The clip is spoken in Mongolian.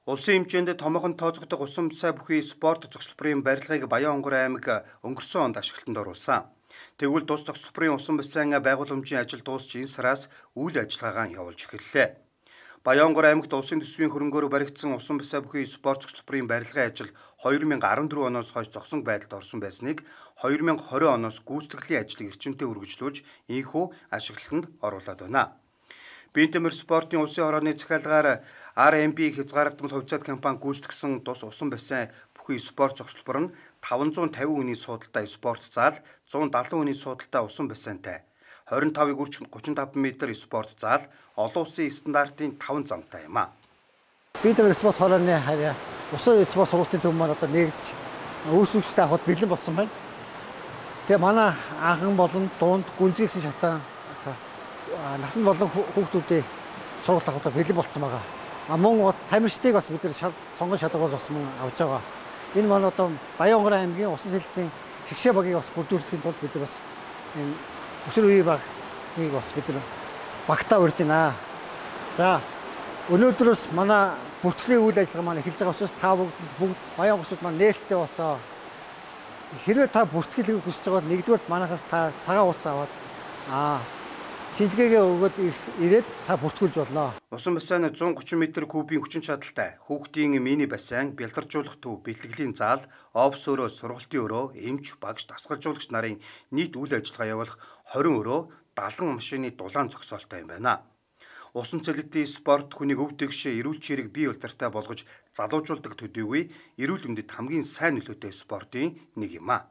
Улсын хэмжээнд томоохон тооцогдох усан сай бүхий спорт цогцлборын барилгыг Баян-Онгор аймаг өнгөрсөн онд ашиглалтанд оруулсан. Тэгвэл тус цогцлборын усан бассейн байгууламжийн ажил дуусч энэ сараас үйл ажиллагаагаа явуулж эхэллээ. Баян-Онгор аймагт улсын төсвийн хөрөнгөөр баригдсан усан бассейн бүхий спорт цогцлборын барилгын ажил 2014 оноос хойш зогсон байдалд орсон байсныг 2020 оноос гүйцэтгэлийн ажлыг эрчимтэй үргэлжлүүлж ийхүү ашиглалтанд оруулаад байна. Бинтэмэр спортын улсын хорооны захиалгаар RMB хязгаарлалтмал хувьцаат компани гүйцэтгсэн тус усан бассейн бүхий спорт цогцлбор нь 550 хүний суудалтай спорт зал, 170 хүний суудалтай усан бассейнтай, 25-ыг үрж 35 м спорт зал, олон улсын стандартын 5 замтай юм а. Бинтэмэр спорт хорооны харьяа усан спорт сургуулийн төв маань одоо нэгдэж үүсвэрчтэй авахд бэлэн болсон байна. Тэгээ манай анхан болон дунд гүнзгий гэсэн шатаа насан болон хүүхдүүдийн сургалт авахд бэлэн болсон байгаа. Мөн тамирчдыг бас бид нар сонгон шалгуулж бас мөн авч байгаа. Энэ маань одоо Баян-Онгор аймгийн усан сэлтийн шигшээ багийг бас бүрдүүлэхийн тулд бид нар бас энэ өсвөр үеийн багийг бас бид нар багтаа урьж байна. За өнөөдрөөс манай бүртгэлийн үйл ажиллагаа маань эхэлж байгаа учраас та бүгд Баян-Онгорчууд маань нээлттэй болсоо. Хэрвээ та бүртгэлийг хүсэж байгаа бол нэгдүгээр манайхаас та цагаан утас аваад шилгээгээ өгөөд ирээд та бүртгүүлж болно. Усан бассейн 130 м кубийн хүчин чадалтай, хүүхдийн мини бассейн, бялдаржуулах төв, бэлтгэлийн зал, офс өрөө, сургалтын өрөө, эмч, багш, дасгалжуулагч нарын нийт үйл ажиллагаа явуулах 20 өрөө, 70 машины дулаан зогсоолтой юм байна. Усан цэлэтийн спорт хүнийг өв дэгш эрүүл чирэг бие удиртай болгож залуужуулдаг төдийгүй эрүүл мэндэд хамгийн сайн нөлөөтэй спортын нэг юм а.